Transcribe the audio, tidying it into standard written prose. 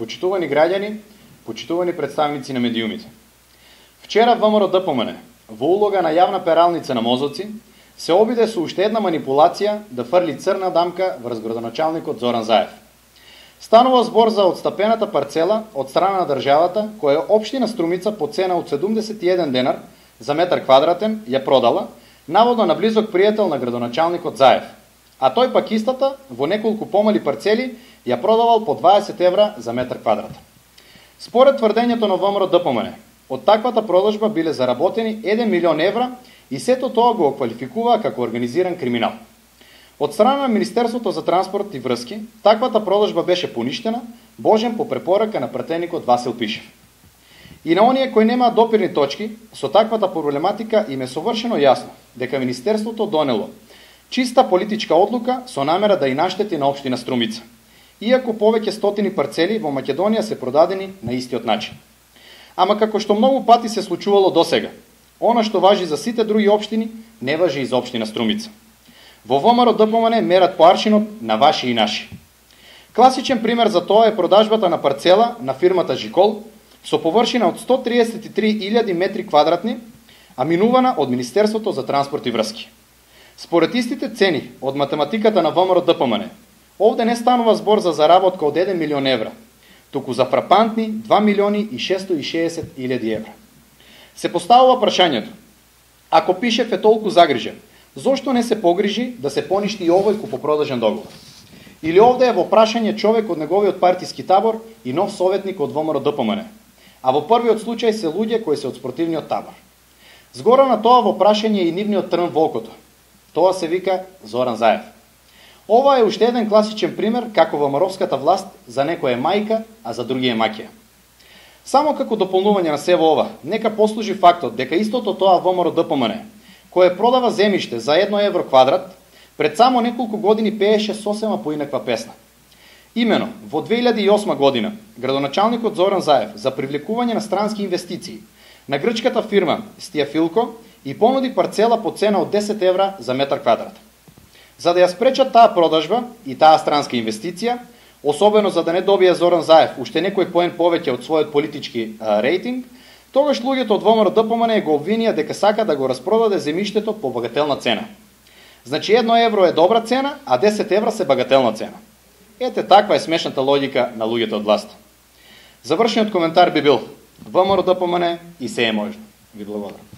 Почитувани граѓани, почитувани представници на медиумите. Вчера ВМРО ДПМН, во улога на јавна пералница на мозоци, се обиде со уште една манипулација да фрли црна дамка врз градоначалникот Зоран Заев. Станува збор за отстапената парцела од страна на државата, која општина Струмица по цена од 71 денар за метар квадратен ја продала, наводно на близок пријател на градоначалникот Заев, а тој пак истата во неколку помали парцели ја продавал по 20 евра за метар квадратен. Според тврдењето на ВМРО ДПМН, од таквата продажба биле заработени 1 милион евра и сето тоа го квалификува како организиран криминал. Од страна на Министерството за транспорт и врски, таквата продажба беше поништена, божен по препорака на пратеникот Васил Пишев. И на оние кои немаат допирни точки, со таквата проблематика им е совршено јасно дека Министерството донело чиста политичка одлука со намера да и наштети на општина Струмица, иако повеќе стотини парцели во Македонија се продадени на истиот начин. Ама како што многу пати се случувало досега, она што важи за сите други општини, не важи и за општина Струмица. Во ВМРО ДПМН мерат по аршинот на ваши и наши. Класичен пример за тоа е продажбата на парцела на фирмата Жикол со површина од 133.000 метри квадратни, а минувана од Министерството за транспорт и врски. Според истите цени од математиката на ВМРО ДПМН, овде не станува збор за заработка од 1 милион евра, туку за фрапантни 2 милиони и 660.000 евра. Се поставува прашањето: ако Пишев е толку загрижен, зошто не се погрижи да се поништи и овој купопродажен договор? Или овде е во прашање човек од неговиот партиски табор и нов советник од ВМРО ДПМН, а во првиот случај се луѓе кои се од спротивниот табор. Згора на тоа во прашање и нивниот трн во окото. Тоа се вика Зоран Заев. Ова е уште еден класичен пример како ВМРО-вската власт за некој е мајка, а за други е маќија. Само како дополнување на сево ова, нека послужи фактот дека истото тоа ВМРО ДПМН, кое продава земјиште за 1 евро квадрат, пред само неколку години пееше сосема поинаква песна. Имено, во 2008 година, градоначалникот Зоран Заев за привлекување на странски инвестиции на грчката фирма Стиафилко и понуди парцела по цена од 10 евра за метар квадрат. За да ја спречат таа продажба и таа странска инвестиција, особено за да не добие Зоран Заев уште некој поен повеќе од својот политички рейтинг, тогаш луѓето од ВМРО ДПМН го обвинија дека сака да го распродаде земјиштето по багателна цена. Значи 1 евро е добра цена, а 10 евра се багателна цена. Ете таква е смешната логика на луѓето од власт. Завршниот коментар би бил: ВМРО ДПМН и се е можно. Ви благодарам.